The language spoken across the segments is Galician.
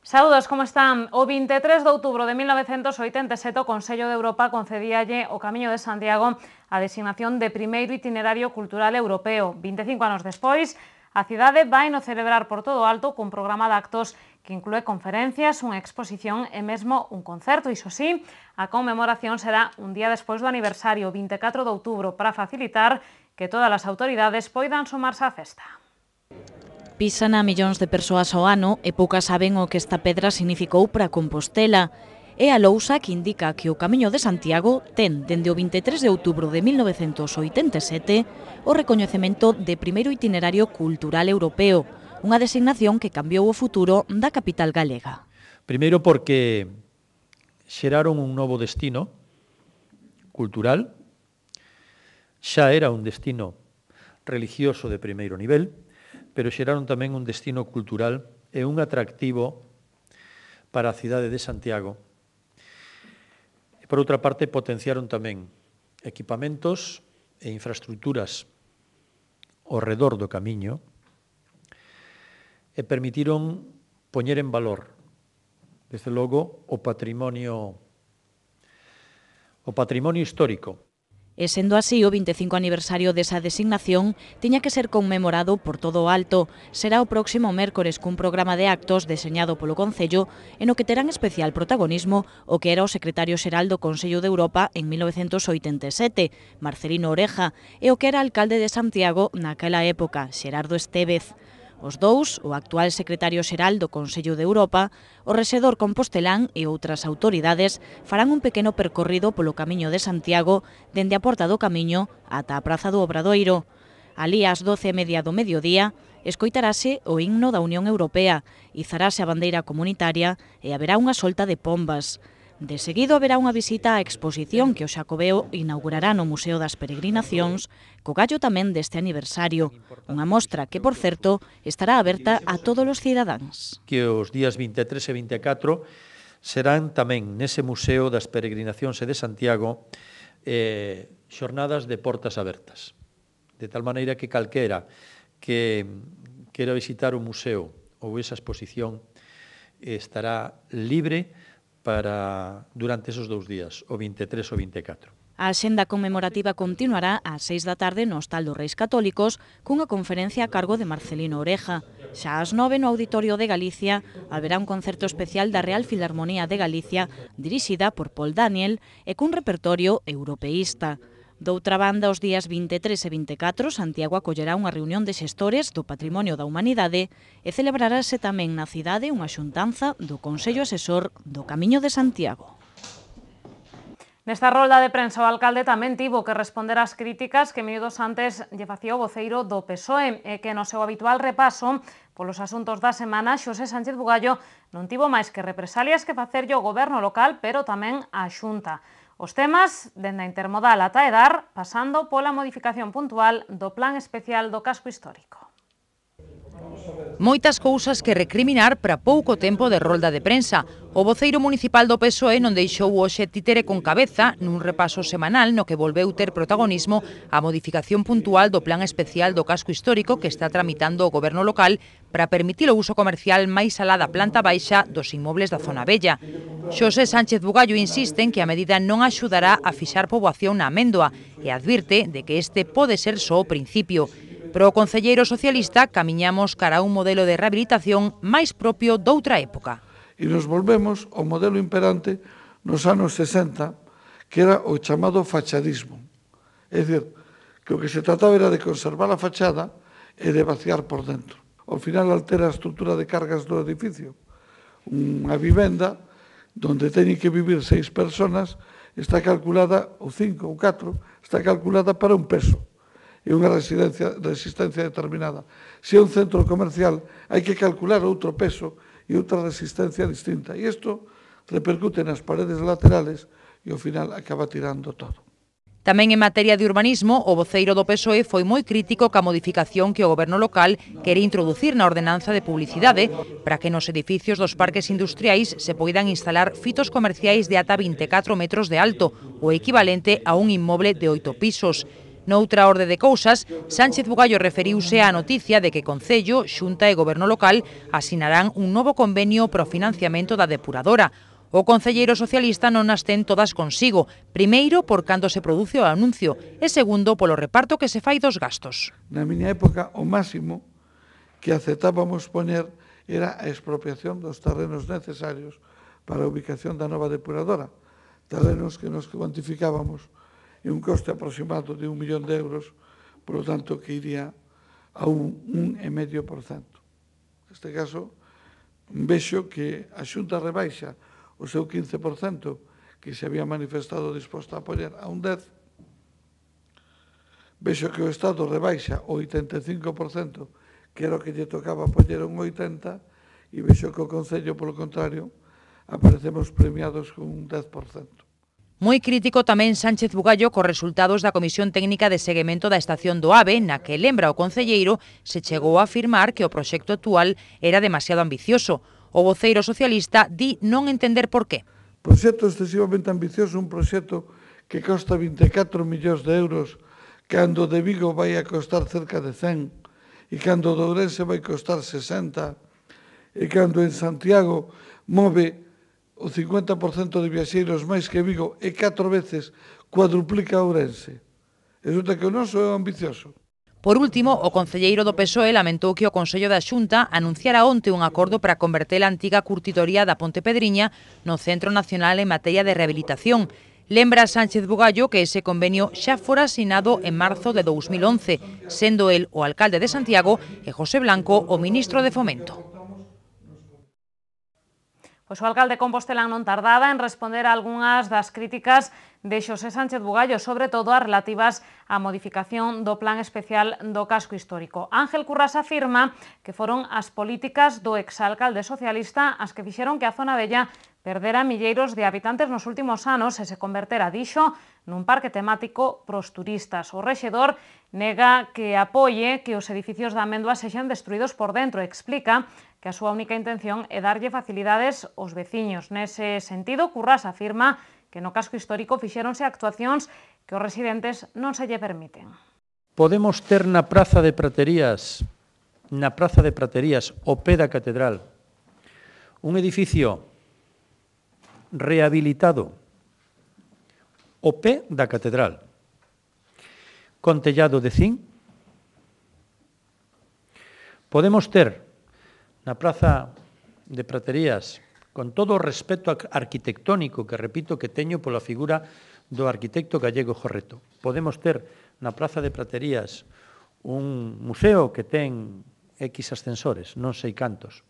Saúdos, como están? O 23 de outubro de 1987 o Consello de Europa concedíalle o Camiño de Santiago a designación de primeiro itinerario cultural europeo. 25 anos despois, a cidade vai no celebrar por todo o alto cun programa de actos que inclúe conferencias, unha exposición e mesmo un concerto. Iso sí, a conmemoración será un día despois do aniversario, 24 de outubro, para facilitar que todas as autoridades poidan sumarse á festa. Pisan a millóns de persoas ao ano e poucas saben o que esta pedra significou para Compostela. É a lousa que indica que o Camiño de Santiago ten, dende o 23 de outubro de 1987, o recoñecemento de primeiro itinerario cultural europeo, unha designación que cambiou o futuro da capital galega. Primeiro porque xeraron un novo destino cultural, xa era un destino religioso de primeiro nivel, pero xeraron tamén un destino cultural e un atractivo para a cidade de Santiago. E, por outra parte, potenciaron tamén equipamentos e infraestructuras ao redor do camiño e permitiron poñer en valor, desde logo, o patrimonio histórico. E sendo así, o 25 aniversario desa designación tiña que ser conmemorado por todo o alto. Será o próximo mércores cun programa de actos deseñado polo Concello e no que terán especial protagonismo o que era o secretario xeral do Consello de Europa en 1987, Marcelino Oreja, e o que era alcalde de Santiago naquela época, Xerardo Estévez. Os dous, o actual secretario xeral do Consello de Europa, o rexedor compostelán e outras autoridades farán un pequeno percorrido polo Camiño de Santiago dende a Porta do Camiño ata a Praza do Obradoiro. Alí ás 12:30 do mediodía escoitarase o himno da Unión Europea, izarase a bandeira comunitaria e haberá unha solta de pombas. De seguido haberá unha visita á exposición que o Xacobeo inaugurará no Museo das Peregrinacións, co gallo tamén deste aniversario, unha mostra que, por certo, estará aberta a todos os cidadáns. Que os días 23 e 24 serán tamén nese Museo das Peregrinacións e de Santiago xornadas de portas abertas. De tal maneira que calquera que quera visitar o museo ou esa exposición estará libre durante esos 2 días, o 23 e o 24. A axenda conmemorativa continuará ás 6 da tarde no Hostal dos Reis Católicos cunha conferencia a cargo de Marcelino Oreja. Xa ás 9 no Auditorio de Galicia haberá un concerto especial da Real Filarmonía de Galicia dirixida por Paul Daniel e cun repertorio europeísta. Doutra banda, os días 23 e 24, Santiago acollerá unha reunión de xestores do Patrimonio da Humanidade e celebrarase tamén na cidade unha xuntanza do Consello Asesor do Camiño de Santiago. Nesta rolda de prensa o alcalde tamén tivo que responder ás críticas que minutos antes lle facía o voceiro do PSOE e que no seu habitual repaso polos asuntos da semana Xosé Sánchez Bugallo non tivo máis que represalias que facerlle ao goberno local, pero tamén á Xunta. Os temas, dende a intermodal ata Edar, pasando pola modificación puntual do Plan Especial do Casco Histórico. Moitas cousas que recriminar para pouco tempo de rolda de prensa. O voceiro municipal do PSOE non deixou hoxe títere con cabeza nun repaso semanal no que volveu ter protagonismo a modificación puntual do Plan Especial do Casco Histórico que está tramitando o goberno local para permitir o uso comercial máis alá da planta baixa dos inmobles da zona vella. Xosé Sánchez Bugallo insiste en que a medida non axudará a fixar poboación na Améndoa e advirte de que este pode ser só o principio. Pero o concelleiro socialista camiñamos cara a un modelo de rehabilitación máis propio doutra época. E nos volvemos ao modelo imperante nos anos 60, que era o chamado fachadismo. É dicir, que o que se trataba era de conservar a fachada e de vaciar por dentro. Ao final altera a estrutura de cargas do edificio. Unha vivenda donde teñen que vivir 6 personas está calculada, ou 5 ou 4, está calculada para un peso e unha resistencia determinada. Se é un centro comercial, hai que calcular outro peso e outra resistencia distinta. E isto repercute nas paredes laterales e ao final acaba tirando todo. Tamén en materia de urbanismo, o voceiro do PSOE foi moi crítico ca modificación que o goberno local quere introducir na ordenanza de publicidade para que nos edificios dos parques industriais se poidan instalar fitos comerciais de ata 24 metros de alto, o equivalente a un inmoble de 8 pisos. Noutra orde de cousas, Sánchez Bugallo referiuse á noticia de que Concello, Xunta e Goberno local asinarán un novo convenio para o financiamento da depuradora. O concelleiro socialista non as ten todas consigo, primeiro por cando se produce o anuncio e segundo polo reparto que se fai dos gastos. Na miña época, o máximo que aceptábamos poñer era a expropiación dos terrenos necesarios para a ubicación da nova depuradora, terrenos que nos cuantificábamos en un coste aproximado de 1 millón de euros, por lo tanto, que iría a un 1,5%. Neste caso, vexo que a Xunta rebaixa o seu 15%, que se había manifestado disposto a apoiar a un 10%. Vexo que o Estado rebaixa o 85%, que era o que lle tocaba apoiar un 80%, e vexo que o Concello, polo contrario, aparecemos premiados con un 10%. Moi crítico tamén Sánchez Bugallo cos resultados da Comisión Técnica de Seguimento da Estación do AVE, na que, lembra o concelleiro, se chegou a afirmar que o proxecto actual era demasiado ambicioso. O voceiro socialista di non entender por qué. Proxecto excesivamente ambicioso, un proxecto que costa 24 millóns de euros, cando de Vigo vai a costar cerca de 100, e cando de Ourense vai costar 60, e cando en Santiago move o 50% de viaxeiros máis que Vigo e 4 veces cuadruplica Ourense. Resulta que o noso é ambicioso. Por último, o concelleiro do PSOE lamentou que o Consello da Xunta anunciara onte un acordo para converter a antiga curtitoría da Ponte Pedriña no Centro Nacional en materia de rehabilitación. Lembra Sánchez Bugallo que ese convenio xa fora asinado en marzo de 2011, sendo el o alcalde de Santiago e José Blanco o ministro de Fomento. Pois o alcalde compostelán non tardaba en responder a algunhas das críticas de Xosé Sánchez Bugallo, sobre todo as relativas á modificación do plan especial do casco histórico. Ángel Currás afirma que foron as políticas do exalcalde socialista as que fixeron que a zona vella perdera milleiros de habitantes nos últimos anos e se convertera, dixo, nun parque temático pros turistas. O rexedor nega que apoie que os edificios da Amendoa sexan destruídos por dentro e explica que a súa única intención é darlle facilidades aos veciños. Nese sentido, Currás afirma que no casco histórico fixéronse actuacións que os residentes non se lle permiten. Podemos ter na Praza de Praterías, o pé da Catedral, un edificio rehabilitado o pé da Catedral, con tellado de zinc. Podemos ter na Praza de Praterías, con todo o respeto arquitectónico que repito que teño pola figura do arquitecto gallego Jorreto. Podemos ter na Praza de Praterías un museo que ten X ascensores, non sei cantos,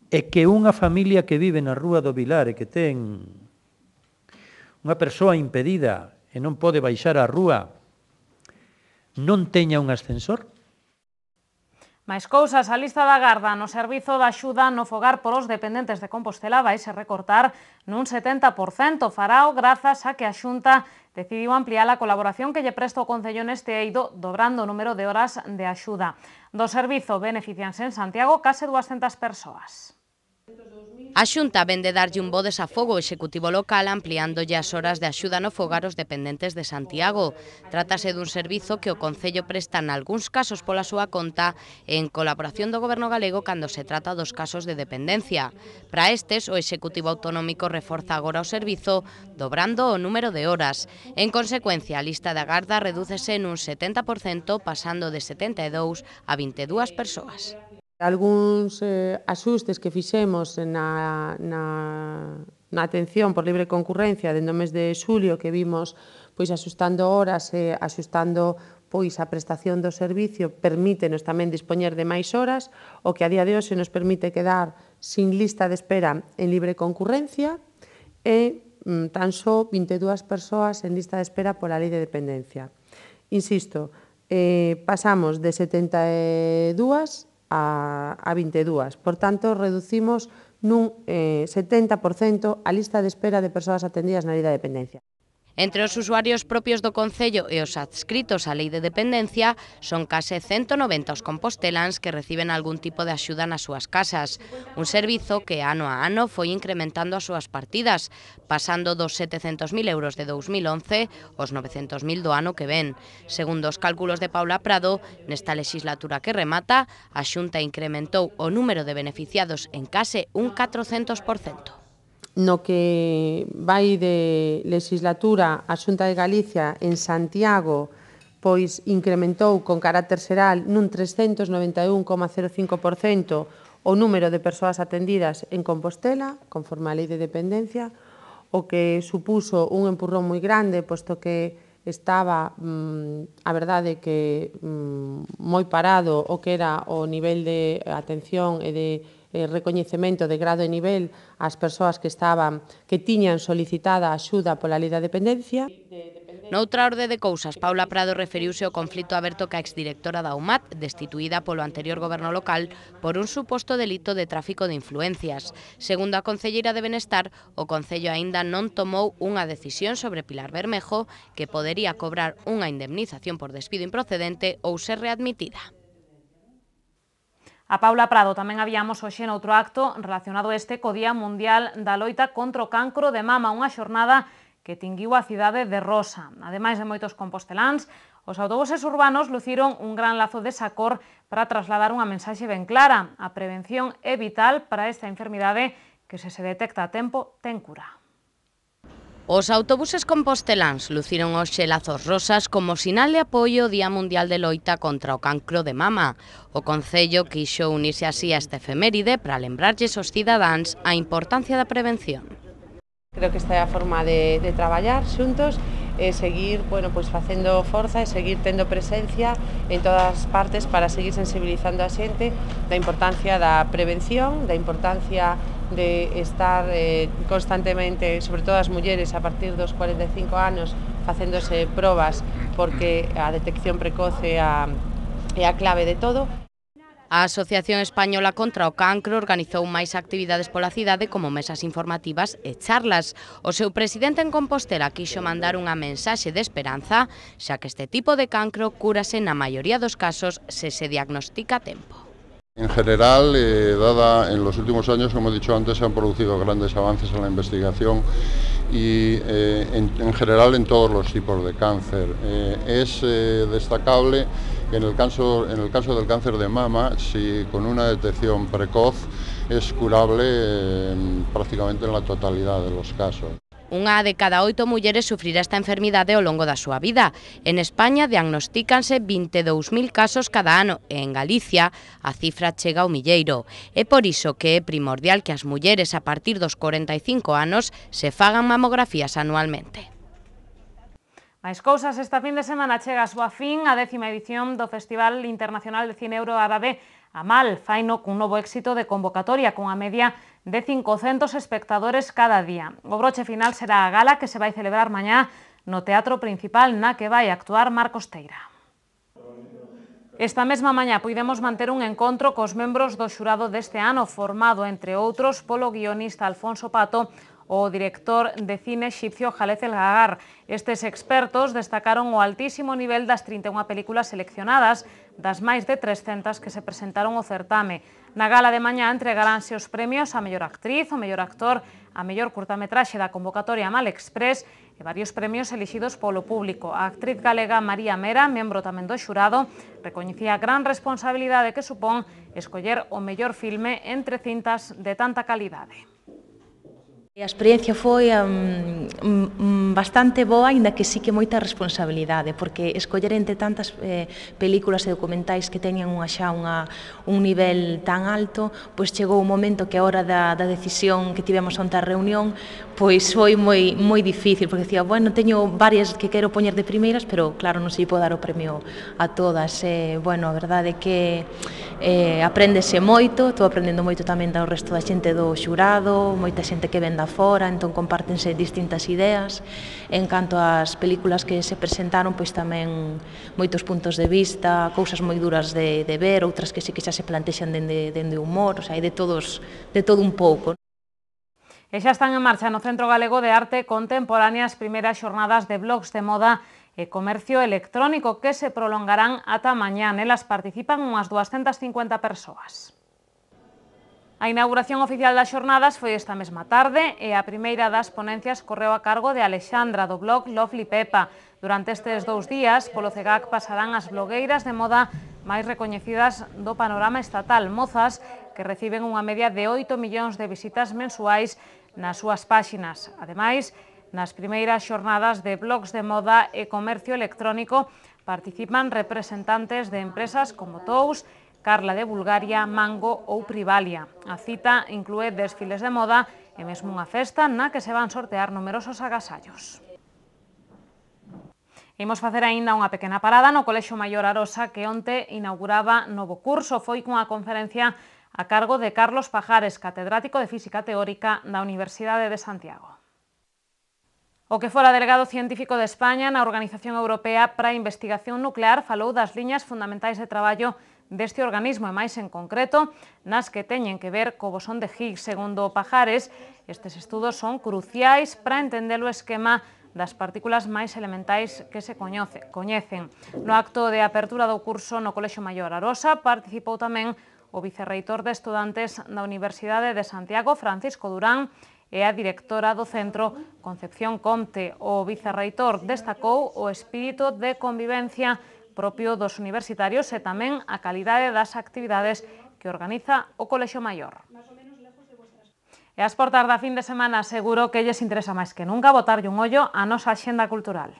e que unha familia que vive na Rúa do Vilar e que ten unha persoa impedida e non pode baixar á rúa non teña un ascensor? Máis cousas, a lista da garda no servizo de axuda no fogar por os dependentes de Compostela vai se recortar nun 70%. Farao grazas a que a Xunta decidiu ampliar a colaboración que lle presta o Concello neste eido, dobrando o número de horas de axuda. Do servizo beneficianse en Santiago case 200 persoas. A Xunta vende darlle un bo desafogo ao Executivo local ampliándolle as horas de axuda no fogar aos dependentes de Santiago. Trátase dun servizo que o Concello presta nalgúns casos pola súa conta e en colaboración do Goberno galego cando se trata dos casos de dependencia. Para estes, o Executivo autonómico reforza agora o servizo, dobrando o número de horas. En consecuencia, a lista de agarda redúcese nun 70%, pasando de 72 a 22 persoas. Algúns axustes que fixemos na atención por libre concurrencia dentro do mes de xulio, que vimos pois axustando horas e axustando pois a prestación do servicio, permítenos tamén dispoñer de máis horas, o que a día de hoxe nos permite quedar sin lista de espera en libre concurrencia e tan só 22 persoas en lista de espera pola lei de dependencia. Insisto, pasamos de 72 a 22. Por tanto, reducimos nun 70% a lista de espera de persoas atendidas na lei da dependencia. Entre os usuarios propios do Concello e os adscritos á Lei de Dependencia son case 190 os composteláns que reciben algún tipo de axuda nas súas casas. Un servizo que ano a ano foi incrementando as súas partidas, pasando dos 700.000 euros de 2011 aos 900.000 do ano que ven. Segundo os cálculos de Paula Prado, nesta legislatura que remata, a Xunta incrementou o número de beneficiados en case un 400%. No que vai de legislatura, a Xunta de Galicia en Santiago pois incrementou con carácter xeral nun 391,05% o número de persoas atendidas en Compostela, conforme á Lei de Dependencia, o que supuso un empurrón moi grande, posto que estaba, a verdade, que moi parado o que era o nivel de atención e de recoñecemento de grado e nivel ás persoas que tiñan solicitada a axuda pola Lei da Dependencia. Noutra orde de cousas, Paula Prado referiuse ao conflito aberto ca exdirectora da UMAT, destituída polo anterior goberno local por un suposto delito de tráfico de influencias. Segundo a concelleira de Benestar, o Concello aínda non tomou unha decisión sobre Pilar Bermejo, que podería cobrar unha indemnización por despido improcedente ou ser readmitida. A Paula Prado tamén habíamos hoxe noutro acto relacionado co Día Mundial da Loita contra o Cancro de Mama, unha xornada que tinguiu a cidade de rosa. Ademais de moitos composteláns, os autobuses urbanos luciron un gran lazo de sacor para trasladar unha mensaxe ben clara. A prevención é vital para esta enfermidade que, se detecta a tempo, ten cura. Os autobuses composteláns luciron hoxe lazos rosas como sinal de apoio ao Día Mundial de Loita contra o Cancro de Mama. O Concello quixo unirse así a esta efeméride para lembrarlles aos cidadáns a importancia da prevención. Creo que esta é a forma de traballar xuntos e seguir facendo forza e seguir tendo presencia en todas as partes para seguir sensibilizando a xente da importancia da prevención, da importancia de estar constantemente, sobre todo as mulleres a partir dos 45 anos, facéndose probas, porque a detección precoce é a clave de todo. A Asociación Española contra o Cancro organizou máis actividades pola cidade como mesas informativas e charlas. O seu presidente en Compostela quixo mandar unha mensaxe de esperanza, xa que este tipo de cancro cúrase na maioría dos casos se diagnostica a tempo. En general, en los últimos años, como he dicho antes, se han producido grandes avances en la investigación y en general en todos los tipos de cáncer. Es destacable en el caso del cáncer de mama, si con una detección precoz es curable prácticamente en la totalidad de los casos. Unha de cada 8 mulleres sufrirá esta enfermidade ao longo da súa vida. En España diagnostícanse 22.000 casos cada ano e en Galicia a cifra chega ao milleiro. É por iso que é primordial que as mulleres a partir dos 45 anos se fagan mamografías anualmente. Máis cousas, esta fin de semana chega a súa fin a 10ª edición do Festival Internacional de Cine Euroárabe Amal, faino cun novo éxito de convocatoria, cunha media de 500 espectadores cada día. O broche final será a gala que se vai celebrar mañá no Teatro Principal, na que vai actuar Marcos Teira. Esta mesma mañá puidemos manter un encontro cos membros do xurado deste ano, formado, entre outros, polo guionista Alfonso Pato, o director de cine exipcio Jalez El Gagar. Estes expertos destacaron o altísimo nivel das 31 películas seleccionadas, das máis de 300 que se presentaron ao certame. Na gala de mañá entregaránse os premios a mellor actriz, o mellor actor, a mellor curtametraxe da convocatoria Mal Express e varios premios elixidos polo público. A actriz galega María Mera, membro tamén do xurado, recoñecía a gran responsabilidade que supón escoller o mellor filme entre cintas de tanta calidade. A experiencia foi bastante boa, aínda que sí que moita responsabilidade, porque escoller entre tantas películas e documentais que teñen un nivel tan alto, pois chegou un momento que a hora da decisión que tivemos onte a reunión, pois foi moi difícil, porque decía, bueno, teño varias que quero poñer de primeiras, pero claro, non se lle pode dar o premio a todas. Bueno, a verdade é que apréndese moito, estou aprendendo moito tamén do resto da xente do xurado, moita xente que ven da fora, entón compártense distintas ideas. En canto ás películas que se presentaron, pois tamén moitos puntos de vista, cousas moi duras de ver, outras que sí que xa se plantexan dende humor, o sea, hai de todo un pouco. E xa están en marcha no Centro Galego de Arte Contemporánea as primeiras xornadas de blogs de moda e comercio electrónico que se prolongarán ata mañá. Nelas participan unhas 250 persoas. A inauguración oficial das xornadas foi esta mesma tarde e a primeira das ponencias correu a cargo de Alexandra, do blog Lovely Pepa. Durante estes 2 días, polo CEGAC pasarán as blogueiras de moda máis recoñecidas do panorama estatal, mozas que reciben unha media de 8 millóns de visitas mensuais nas súas páxinas. Ademais, nas primeiras xornadas de blogs de moda e comercio electrónico participan representantes de empresas como Tous, Carla de Bulgaria, Mango ou Privalia. A cita inclúe desfiles de moda e mesmo unha festa na que se van sortear numerosos agasallos. Imos facer aínda unha pequena parada no Colexio Maior Arosa, que onte inauguraba novo curso. Foi cunha conferencia a cargo de Carlos Pajares, catedrático de Física Teórica da Universidade de Santiago. O que fora delegado científico de España na Organización Europea para a Investigación Nuclear falou das liñas fundamentais de traballo deste organismo e máis en concreto nas que teñen que ver co bosón de Higgs. Segundo Pajares, estes estudos son cruciais para entender o esquema das partículas máis elementais que se coñecen. No acto de apertura do curso no Colexio Maior Arosa participou tamén o vicerreitor de estudantes da Universidade de Santiago, Francisco Durán, e a directora do centro, Concepción Comte. O vicerreitor destacou o espírito de convivencia propio dos universitarios e tamén a calidade das actividades que organiza o Colexio Maior. E ás portas da fin de semana seguro que lles interesa máis que nunca botarlle un ollo á nosa axenda cultural.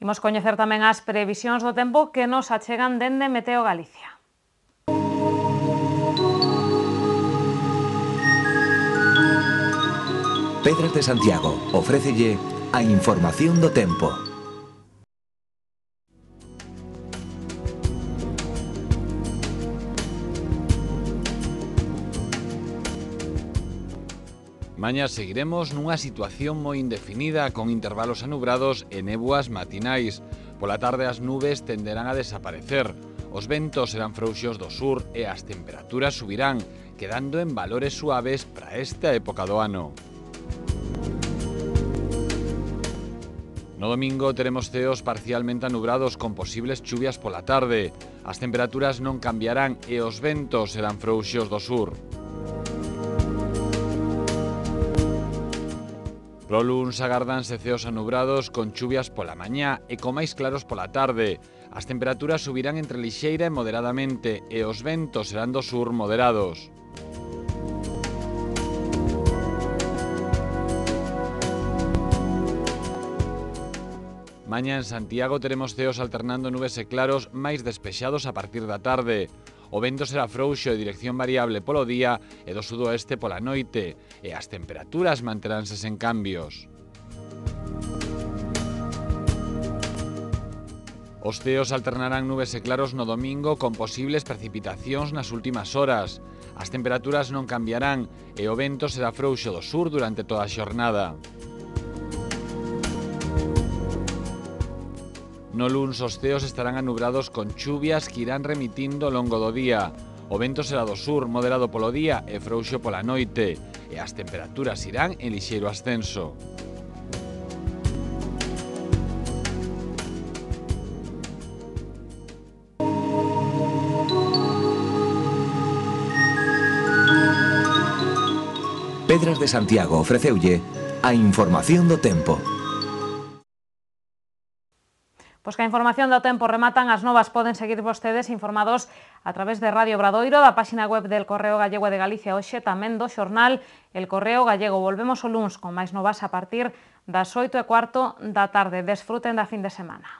Imos coñecer tamén as previsións do tempo que nos achegan dende Meteo Galicia. Pedras de Santiago ofrécelle a información do tempo. Mañá seguiremos nunha situación moi indefinida con intervalos anubrados e néboas matinais. Pola tarde as nubes tenderán a desaparecer. Os ventos serán frouxos do sur e as temperaturas subirán, quedando en valores suaves para esta época do ano. No domingo teremos ceos parcialmente anubrados con posibles chuvias pola tarde. As temperaturas non cambiarán e os ventos serán frouxos do sur. Pro luns agárdanse ceos anubrados con chuvias pola mañá e con máis claros pola tarde. As temperaturas subirán entre lixeira e moderadamente e os ventos serán do sur moderados. Mañá en Santiago teremos ceos alternando nubes e claros máis despexados a partir da tarde. O vento será frouxo de dirección variable polo día e do sudoeste pola noite, e as temperaturas manteránse sen cambios. Os ceos alternarán nubes e claros no domingo con posibles precipitacións nas últimas horas. As temperaturas non cambiarán e o vento será frouxo do sur durante toda a xornada. No luns os ceos estarán anubrados con chuvias que irán remitindo ao longo do día. O vento será do sur, moderado polo día e frouxo pola noite, e as temperaturas irán en lixeiro ascenso. Pedras de Santiago ofreceulle a información do tempo. Pois que a información do tempo rematan, as novas poden seguir vostedes informados a través de Radio Obradoiro, da páxina web del Correo Gallego de Galicia hoxe, tamén do xornal El Correo Gallego. Volvemos o luns con máis novas a partir das 8:15 da tarde. Desfruten da fin de semana.